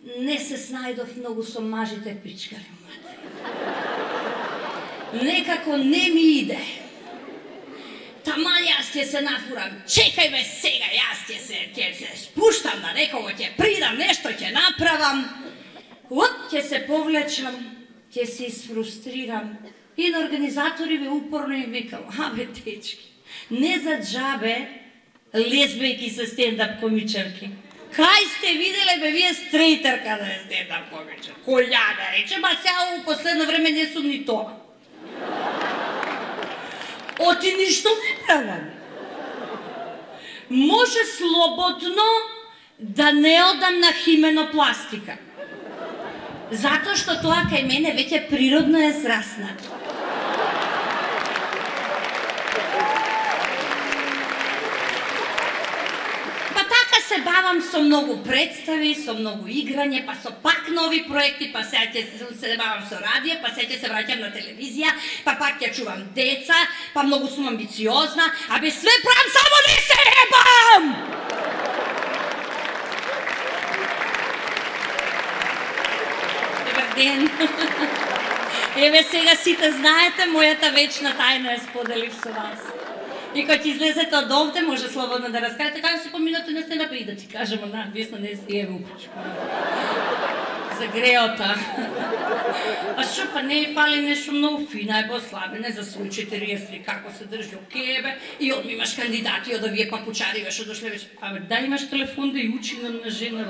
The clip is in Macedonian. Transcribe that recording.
Не се снајдов многу со мажите пичкари. Некако не ми иде. Таман јас ќе се нафурам. Чекај ме сега, јас ќе се спуштам на некого, ќе придам, нешто ќе направам. Ќе се повлечам, ќе се isfrustrирам. И на организаториве упорно им викам, абе дечки, не за джабе лесбејки се стендап комичарки. Кај сте виделе бе вие стрејтерка да е стендап комичар? Која да рече, ба сега у последно време не сум ни тоа. Оти ништо не правам. Може слободно да не одам на хименопластика. Затоа што тоа кај мене веќе природно е зраснато. Па така се бавам со многу представи, со многу играње, па со пак нови проекти, па сега ќе се бавам со радио, па сега ќе се враќам на телевизија, па пак ќе чувам деца, па многу сум амбициозна, абе све правам, само не се ебам! Ден. Еве сега сите знаете, мојата вечна тајна е споделив со вас. И кога ќе излезете од овде, може слободно да раскажете, како се поминате на стена и да ти кажемо надвесно не си еве упречко. За греота. А шо, па не и фали нешто многу фина е послабене за свој 43, како се држи окебе, и одми имаш кандидати од овие папучари, веше дошле вече. Абе, да имаш телефон да и учи на жена,